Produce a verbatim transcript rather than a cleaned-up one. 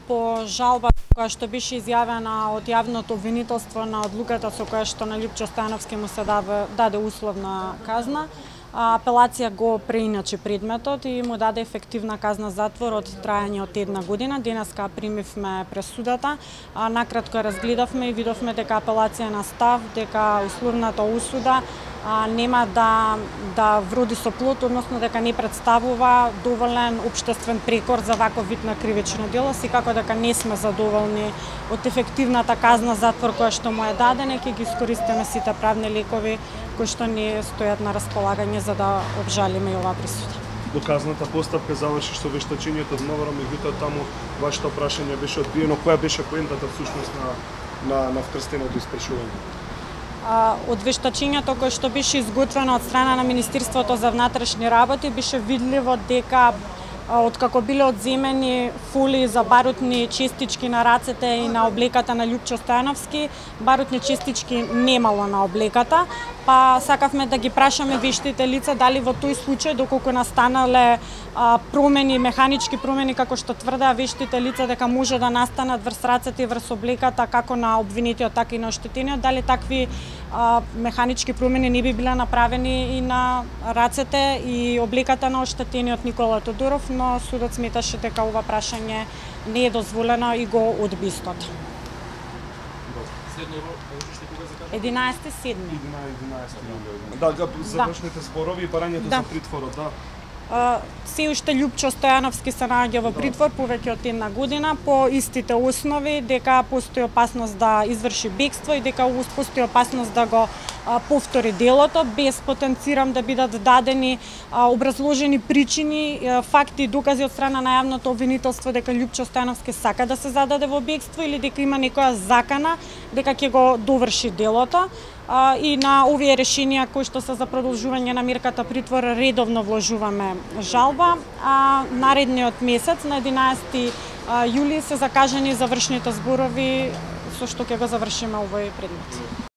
по жалба која што беше изјавена од јавното обвинителство на одлуката со која што на Љупчо Стојановски му се даде, даде условна казна. Апелација го преиначи предметот и му даде ефективна казна затвор од трајање од една година. Денеска примивме пресудата, а накратко разгледавме и видовме дека апелација на став, дека условната осуда а, нема да да вроди со плод, односно дека не представува доволен општествен прекор за ваков вид на кривично дело, секако дека не сме задоволни од ефективната казна затвор која што му е дадена, ќе ги искористиме сите правни лекови кои што ни стојат на располагање за да обжалиме и оваа присуда. Доказната постапка заврши со вештачењето од Новара, меѓутоа таму вашето прашање беше одбиено. Која беше поентата всушност на на на вкрстеното испрашување? Од вештачењето кое што беше изготвено од страна на Министерството за внатрешни работи беше видливо дека откако биле одземени фолии за барутни честички на рацете и на облеката на Љупчо Стојановски, барутни честички немало на облеката, па сакавме да ги прашаме вештите лица дали во тој случај, доколку настанале а, промени, механички промени, како што тврдеа вештите лица дека може да настанат врз рацете и врз облеката како на обвинетиот, така и на оштетениот, дали такви а, механички промени не би биле направени и на рацете и облеката на оштетениот Никола Тодоров, но судот сметаше дека ова прашање не е дозволено и го одби истото. единаесети седми. Да, завршните спорови и барањето да. за притворот, да. Uh, се уште Љупчо Стојановски се наоѓа во притвор повеќе од една година по истите основи дека постои опасност да изврши бегство и дека постои опасност да го uh, повтори делото, без потенцирам да бидат дадени uh, образложени причини, uh, факти и докази од страна на јавното обвинителство дека Љупчо Стојановски сака да се зададе во бегство или дека има некоја закана дека ќе го доврши делото. Uh, и на овие решенија кои што се за продолжување на мерката притвор редовно вложуваме жалба, а наредниот месец на единаесети јули се закажани завршните зборови со што ќе го завршиме овој предмет.